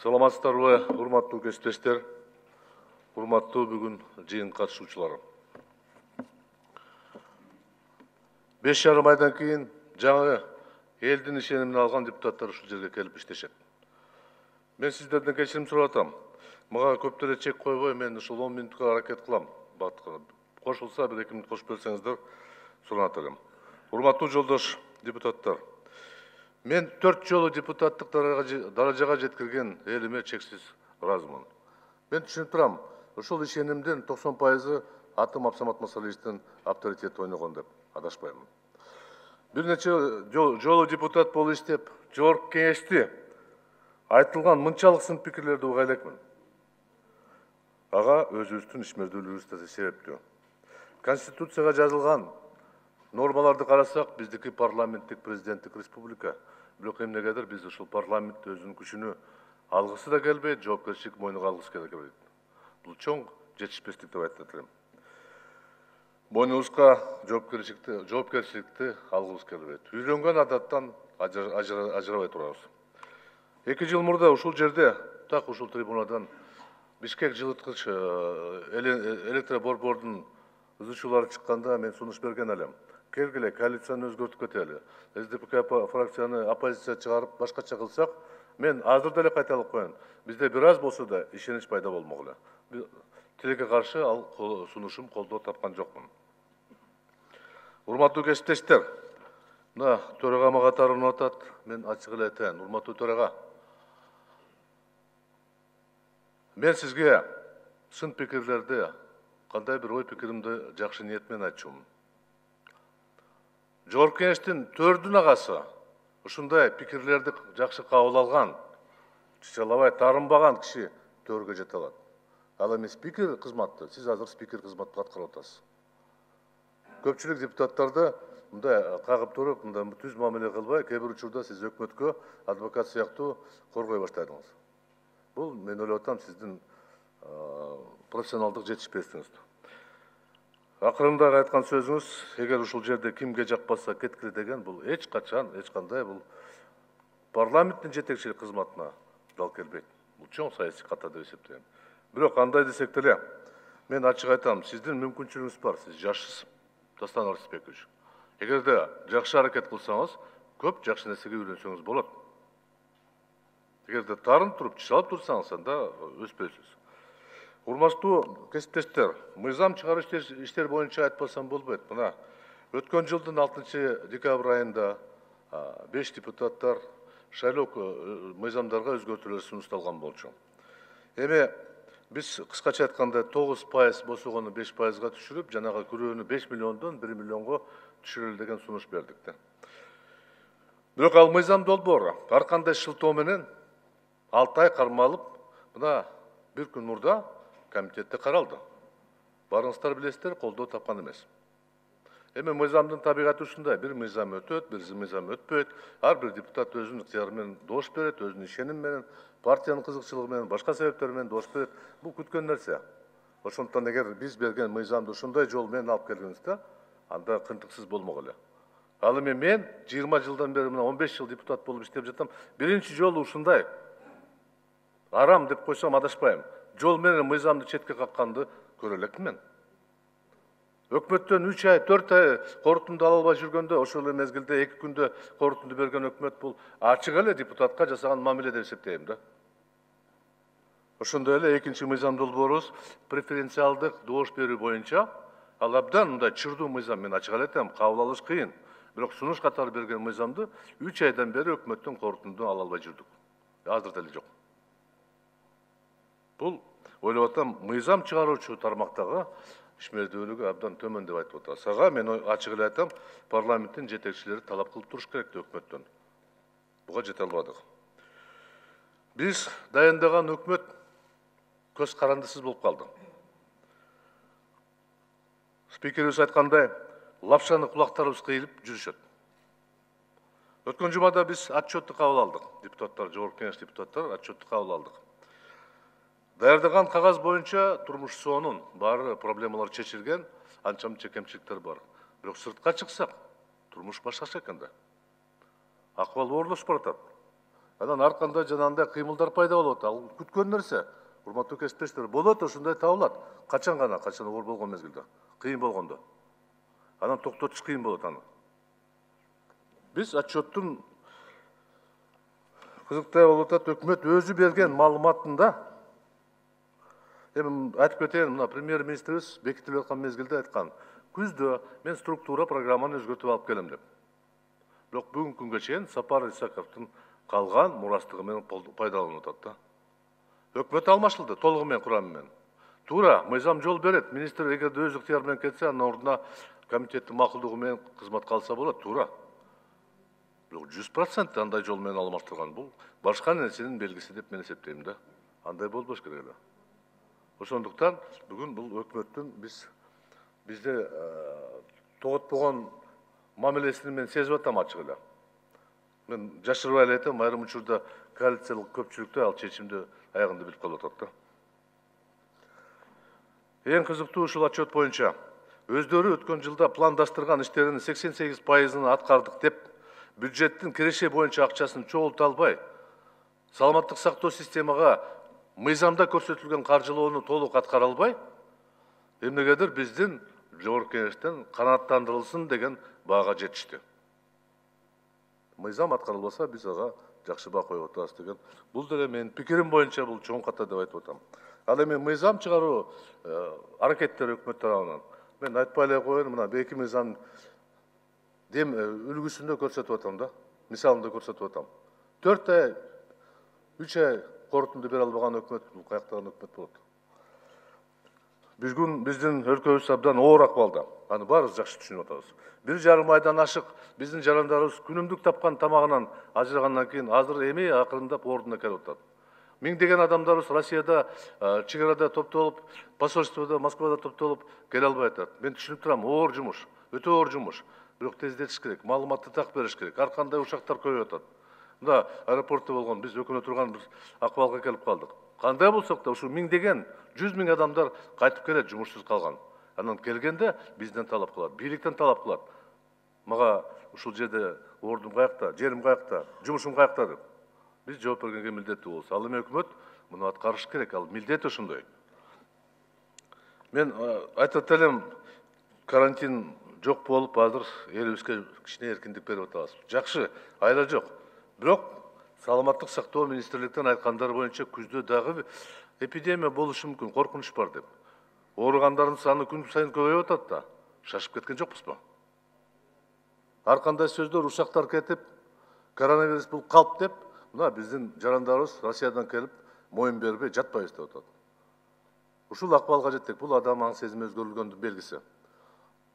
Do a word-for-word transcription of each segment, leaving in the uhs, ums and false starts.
Саламатсыздарбы, урматтуу кесиптештер, урматтуу бүгүн жыйын катышуучулар. Беш жарым айдан кийин жаңы элдин ишенимин алган депутаттар ушул жерге келип иштешет. Мен сиздерден кечирим сурап атам. Мага көп деле чек койбой, мен ушул он мүнөткө аракет кылам. Кошулса бир эки мүнөт кошуп берсеңиздер суранат элем. Урматтуу жолдош депутаттар, мен төрт жолу депутаттык даражага жеткирген элиме чексиз ыраазымын. Мен түшүнүп турам, ушул ишенимдин токсон пайызы атым Абсамат Масалиевичтин авторитети ойногон деп адашпаймын. Бир нече жолу депутат болуп иштеп, жогорку кеңешти айтылган мынчалык сын пикирлерди уга элекмин. Ага өзүбүздүн ишмердүүлүгүбүз да себептүү. Конституцияга жазылган нормаларды карасак, биздики парламенттик президенттик республика. Бирок эмнегедир биз ушул парламент өзүнүн күчүнө алгысы да келбейт, жоопкерчилик мойнуна алгысы келбейт. Бул чоң жетишпестик деп айтат элем. Мойнубузга жоопкерчиликти жоопкерчиликти алгыбыз келбейт. Үйрөнгөн адаттан ажырабай турабыз. Эки жыл мурда ушул жерде, так ушул трибунадан Бишкек жылыткыч электроборбордун үзүүчүлөрү чыкканда мен сунуш берген элем. Келгиле, коалицияны өзгөртүп кетели. СДПК фракцияны оппозиция чыгарып башкача кылсак, мен азыр деле кайталап коеюн. Бизде бир аз болсо да ишенич пайда болмогула. Тилекке каршы ал сунушум колдоо тапкан жокмун. Урматтуу кесиптештер, мына төрага мага таарынып атат. Мен ачык эле айтайын, урматтуу төрага. Мен сизге сын пикирлерди, кандай бир ой пикиримди жакшы ниет менен айтчумун. Жогорку кеңештин төрдүн агасы ушундай пикирлерди жакшы кабыл алган, чычалабай таарынбаган киши төргө жете алат. Ал эми спикер кызматты, сиз азыр спикер кызматты аткарып атасыз. Көпчүлүк депутаттарды мындай кагып туруп, мындай түз мамиле кылбай, кээ бир учурда сиз өкмөткө адвокат сыяктуу коргой баштадыңыз. Бул мен ойлоп атам сиздин профессионалдык жетишпестигиңиз. Акырында айткан сөзүңүз, эгер ушул жерде кимге жакпаса кеткиле деген, бул эч качан, эч кандай бул парламенттин жетекчилик кызматына дал келбейт. Бул чоң саясий ката деп эсептейм. Бирок андай десек деле, мен ачык айтам, сиздин мүмкүнчүлүгүңүз бар, сиз жашсыз, Дастан Арсызбекович. Эгерде жакшы аракет кылсаңыз, көп жакшы нерсеге үйрөнсөңүз болот. Эгерде таарынып туруп, чычалып турсаңыз, анда өспөйсүз. Урматтуу кесиптештер, мыйзам чыгаруу иштер боюнча айтпасам болбойт. Мына өткөн жылдын алтынчы декабрь айында беш депутаттар шайлоо мыйзамдарга өзгөртүүлөр сунушталган болчу. Эми биз кыскача айтканда тогуз пайыз босогону беш пайызга түшүрүп, жанагы күрөөнү беш миллиондон бир миллионго түшүрөлү деген сунуш бердик да. Бирок ал мыйзам долбоору ар кандай шылтоо менен алты ай кармалып, мына бир күн мурда комитетте каралды. Барыңыздар билесиздер, колдоо тапкан эмес. Эми мыйзамдын табигаты ушундай, бир мыйзам өтөт, бир мыйзам өтпөйт. Ар бир депутат өзүнүн ыктыяры менен добуш берет, өзүнүн ишеними менен, партиянын кызыкчылыгы менен, башка себептер менен добуш берет. Бул күткөн нерсе. Ошондуктан эгер биз берген мыйзамды ушундай жол менен алып келгенибизде, анда кынтыксыз болмок эле. Ал эми мен жыйырма жылдан бери мына он беш жыл депутат болуп иштеп жатам. Биринчи жолу ушундай арам деп койсом адашпайм. Жол менен мыйзамды четке какканды көрө элекмин мен. Өкмөттөн үч ай, төрт ай корутунду ала албай жүргөндө, ошол эле мезгилде эки күндө корутунду берген өкмөт бул ачык эле депутатка жасаган мамиле деп эсептейм да. Ошондой эле экинчи мыйзам долбоорубуз преференциалдык добуш берүү боюнча ал абдан мындай чырдуу мыйзам, мен ачык эле айтам, кабыл алыш кыйын. Бирок сунуш катары берген мыйзамды үч айдан бери өкмөттөн корутунду ала албай жүрдүк. Азыр деле жок. Бул ойлоп атам, мыйзам чыгаруучу тармактагы ишмердүүлүгү абдан төмөн деп айтып атат. Сага мен ачык эле айтам, парламенттин жетекчилери талап кылып туруш керек өкмөттөн. Буга жете албадык. Биз дайындаган өкмөт көз карандысыз болуп калды. Спикерибиз айткандай, лапшаны кулактарыбыз кыйылып жүрүшөт. Өткөн жумада биз отчетту кабыл алдык. Депутаттар, жогорку кеңеш депутаттары отчетту кабыл алдык. Даярдаган кагаз боюнча турмуш соонун баары проблемалар чечилген, анча мынча кемчиликтер бар. Бирок сыртка чыксак, турмуш башкача экен да. Акыбал оорлошуп баратат. Анан ар кандай жанагындай кыймылдар пайда болот. Ал күткөн нерсе. Урматтуу кесиптештер, болот, ошондой табылат. Качан гана, качан оор болгон мезгилде, кыйын болгондо. Анан токтотуш кыйын болот аны. Биз отчеттун кызыктай болуп атат, өкмөт өзү берген маалыматында, эми айтып кетейин, мына премьер-министрибиз бекитилип аткан мезгилде айткан, күздө мен структура программаны өзгөртүп алып келем деп. Бирок бүгүнкү күнгө чейин Сапар Исаковдун калган мурастыгы менен пайдаланып атат да. Өкмөт алмашылды толугу менен, курамы менен. Туура, мыйзам жол берет. Министр эгерде өз ыктыяры менен кетсе, анын ордуна комитеттин макулдугу менен кызматка алса болот, туура. Бирок жүз процент андай жол менен алмаштырган бул башка нерсенин белгиси деп мен эсептейм да. Андай болбош керек эле. Ошондуктан бүгүн бул өкмөттүн биз бизде тоготпогон мамилесин мен сезип атам ачык эле. Мен жашырбай эле айтам, айрым учурда коалициялык көпчүлүктө ал чечимди аягында билип калып атат да. Эң кызыктуу ушул отчет боюнча өздөрү өткөн жылда пландаштырган иштеринин сексен сегиз пайызын аткардык деп, бюджеттин киреше боюнча акчасын чогулта албай, саламаттык сактоо системага мыйзамда көрсөтүлгөн каржылоону толук аткара албай, эмнегедир биздин жогорку кеңештен канааттандырылсын деген баага жетишти. Мыйзам аткарылбаса, биз ага жакшы баа коюп атабыз деген. Бул деле менин пикирим боюнча бул чоң ката деп айтып атам. Ал эми мыйзам чыгаруу аракеттери өкмөт тарабынан мен айтпай эле коеюн, мына эки мыйзам дем үлгүсүндө көрсөтүп атам да, мисалында көрсөтүп атам. төрт ай, үч ай корутунду бере албаган өкмөт бул каяктаган өкмөт болот. Бүгүн биздин өлкөбүз абдан оор акыбалда. Аны баарыбыз жакшы түшүнүп атабыз. Бир жарым айдан ашык биздин жарандарыбыз күнүмдүк тапкан тамагынан ажырагандан кийин азыр эми акырындап ордуна келип атат. Миңдеген адамдарыбыз Россияда, чек арада топтолуп, посольствода, Москвада топтолуп келе албай атат. Мен түшүнүп турам, оор жумуш, өтө оор жумуш. Бирок тездетиш керек, маалыматты так бериш керек. Ар кандай учактар көбөйүп атат. Мында аэропортто болгон, биз өкүнө турган бир акыбалга келип калдык. Кандай болсок да, ушу миңдеген, жүз миң адамдар кайтып келет, жумушсуз калган. Анан келгенде бизден талап кылат, бийликтен талап кылат. Мага ушул жерде ордум каякта, жерим каякта, жумушум каякта деп. Биз жооп бергенге милдеттүү болобуз. Ал эми өкмөт муну аткарыш керек, ал милдети ошондой. Мен айтып элем, карантин жок болуп, азыр элибизге кичине эркиндик берип атабыз. Жакшы, айла жок. Бирок саламаттык сактоо министрликтен айткандары боюнча күздө дагы эпидемия болушу мүмкүн, коркунуч бар деп. Ооругандардын саны күн сайын көбөйүп атат да. Шашып кеткен жокпузбу? Ар кандай сөздөр, ушактар кетип, коронавирус бул калп деп, мына биздин жарандарыбыз Россиядан келип, моюн бербей жатпайбыз деп атат. Ушул акыбалга жеттик. Бул адам аң сезими өзгөрүлгөндүн белгиси.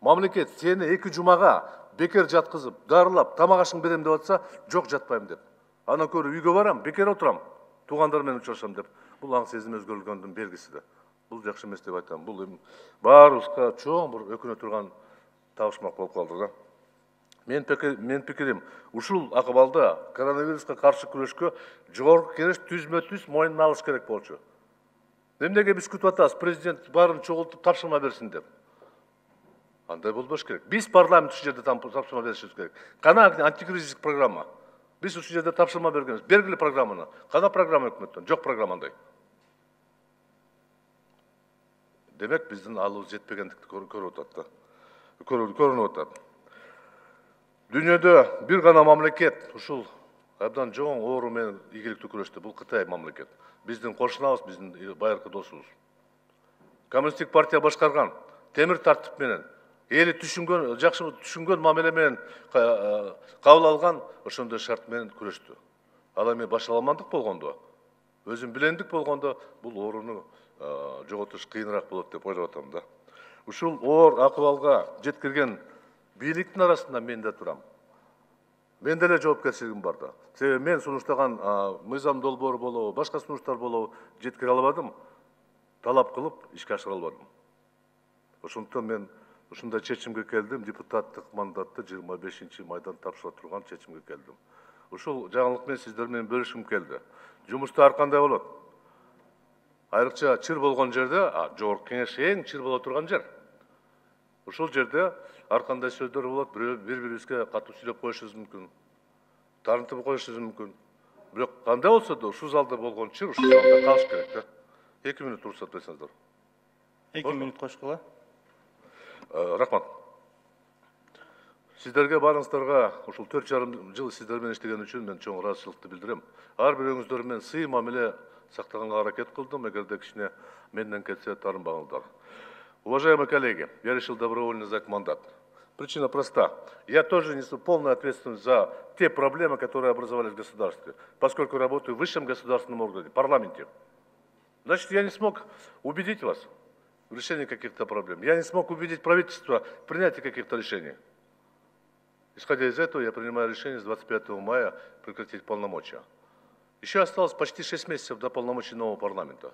Мамлекет сени эки жумага бекер жаткызып, дарылап, тамак ашың берем деп атса, жок жатпайм деп. Анан көрүп үйгө барам, бекер отурам, туугандар менен учурашам деп. Бул аң сезими өзгөрүлгөндүн белгиси да. Бул жакшы эмес деп айтам. Бул эми баарыбызга чоң бир өкүнө турган табышмак болуп калды да. Мен мен пикирим, ушул акыбалда коронавируска каршы күрөшкө жогорку кеңеш түзмө-түз моюнуна алыш керек болчу. Эмнеге биз күтүп атабыз, президент баарын чогултуп тапшырма берсин деп. Андай болбош керек. Биз парламент ушул жерде тапшырма беришибиз керек. Кана антикризистик программа. Биз ушул жерде тапшырма бергенбиз. Бергиле программаны. Кана программа өкмөттөн? Жок программандай. Демек биздин алыбыз жетпегендикти көрүп атат да. Көрүнүп атат. Дүйнөдө бир гана мамлекет ушул абдан жоң оору менен ийгиликтүү күрөштү. Бул Кытай мамлекет. Биздин кошунабыз, биздин байыркы досубуз. Коммунисттик партия башкарган темир тартип менен, эли түшүнгөн, жакшы түшүнгөн мамиле менен кабыл алган ошондой шарт менен күрөштү. Ал эми башаламандык болгондо, өзүн билендик болгондо бул ооруну жоготуш кыйыныраак болот деп ойлоп атам да. Ушул оор акыбалга жеткирген бийликтин арасында мен да турам. Мен деле жоопкерчилигим бар да. Себеби мен сунуштаган мыйзам долбоору болобу, башка сунуштар болобу жеткире албадым, талап кылып ишке ашыра албадым. Ошондуктан мен ушундай чечимге келдим, депутаттык мандатты жыйырма бешинчи майдан тапшыра турган чечимге келдим. Ушул жаңылык менен сиздер менен бөлүшкүм келди. Жумушта ар кандай болот? Айрыкча чыр болгон жерде, жогорку кеңеш эң чыр боло турган жер. Ушул жерде ар кандай сөздөр болот, бири-бирибизге катуу сүйлөп коюшубуз мүмкүн, таарынтып коюшубуз мүмкүн. бирок кандай болсо да ушул залда болгон чыр ушул залда калыш керек да. эки минут уруксат берсеңиздер. эки минут кошкула. Рахмат. Сиздерге баарыңыздарга ушул төрт жарым жыл сиздер менен иштеген үчүн мен чоң ыраазычылыкты билдирем. Ар бирөөңүздөр менен сый мамиле сактаганга аракет кылдым, эгерде кичине менден кетсе таарынбаңыздар. Уважаемые коллеги, я решил добровольно сдать мандат. Причина проста. Я тоже несу полную ответственность за те проблемы, которые образовались в государстве, поскольку работаю в высшем государственном органе, парламенте. Значит, я не смог убедить вас в решении каких-то проблем. Я не смог убедить правительство в принятии каких-то решений. Исходя из этого, я принимаю решение с двадцать пятого мая прекратить полномочия. Еще осталось почти шесть месяцев до полномочий нового парламента.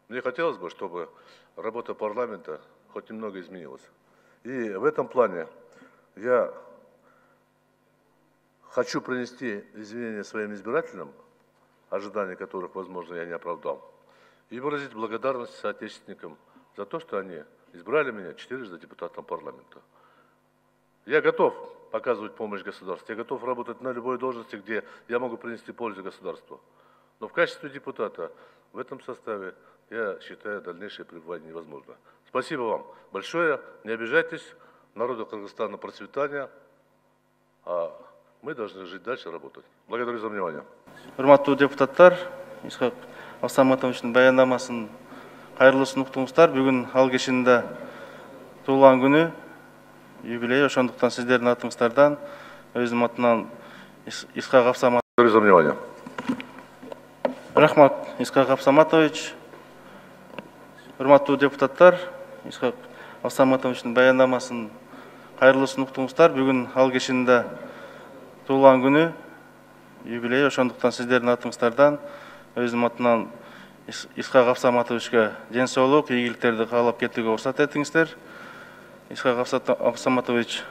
Мне хотелось бы, чтобы работа парламента хоть немного изменилась. И в этом плане я хочу принести извинения своим избирателям, ожидания которых, возможно, я не оправдал, и выразить благодарность соотечественникам за то, что они избрали меня четырежды депутатом парламента. Я готов показывать помощь государству, я готов работать на любой должности, где я могу принести пользу государству. Но в качестве депутата в этом составе я считаю дальнейшее пребывание невозможно. Спасибо вам большое, не обижайтесь, народу Кыргызстана процветания, а мы должны жить дальше, работать. Благодарю за внимание. Урматтуу депутаттар, Исхак Абсаматовичтин баяндамасын кайрылуусун уктуңуздар. Бүгүн ал кишинин туулган күнү, юбилей, ошондуктан сиздердин атыңыздардан өзүм атынан Исхак Абсаматович. Благодарю за внимание. Рахмат, Исхак Абсаматович. Урматтуу депутаттар, Исхак Абсаматовичтин баяндамасын кайрылуусун уктуңуздар. Бүгүн ал кишинин туулган күнү, юбилей, ошондуктан сиздердин атыңыздардан өзүм атынан Исхак Абсаматовичке ден соолук, ийгиликтерди каалап кетүүгө уруксат этиңиздер. Исхак Абсаматович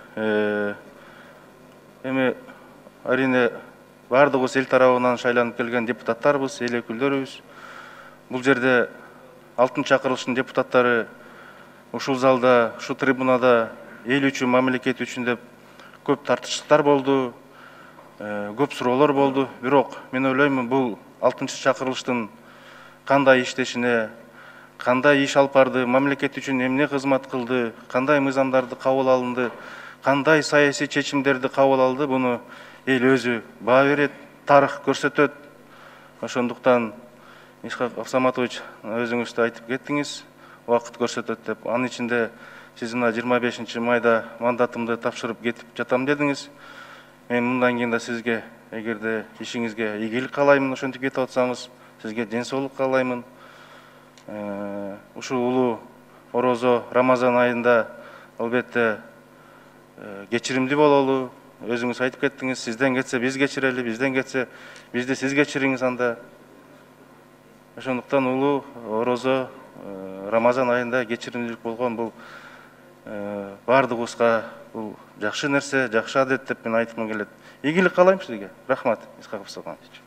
эми арине баардыгыбыз эл тарабынан шайланып келген депутаттарбыз, эл өкүлдөрүбүз. Бул жерде алтын чакырылыштын депутаттары ушул залда, ушул трибунада эл үчүн, мамлекет үчүн деп көп тартыштыктар болду, көп суроолор болду. Бирок мен ойлоймун, бул алтынчы чакырылыштын кандай иштешине, кандай иш алып барды, мамлекет үчүн эмне кызмат кылды, кандай мыйзамдарды кабыл алынды, кандай саясий чечимдерди кабыл алды, буну эл өзү баа берет, тарых көрсөтөт. Ошондуктан Исхак Абсаматович өзүңүз да айтып кеттиңиз, убакыт көрсөтөт деп. Анын ичинде сиз мына жыйырма бешинчи майда мандатымды тапшырып кетип жатам дедиңиз. Мен мындан кийин да сизге, эгерде ишиңизге ийгилик каалаймын, ошентип кетип атсаңыз, сизге ден соолук каалаймын. Ушул улуу орозо Рамазан айында албетте кечиримдүү бололу. Өзүңүз айтып кеттиңиз, сизден кетсе биз кечирели, бизден кетсе бизди сиз кечириңиз анда. Ошондуктан улуу орозо Рамазан айында кечиримдүүлүк болгон бул баардыгыбызга бул жакшы нерсе, жакшы адет деп мен айткым келет. Ийгилик каалайм сизге. Рахмат, Исхак Абсаматович.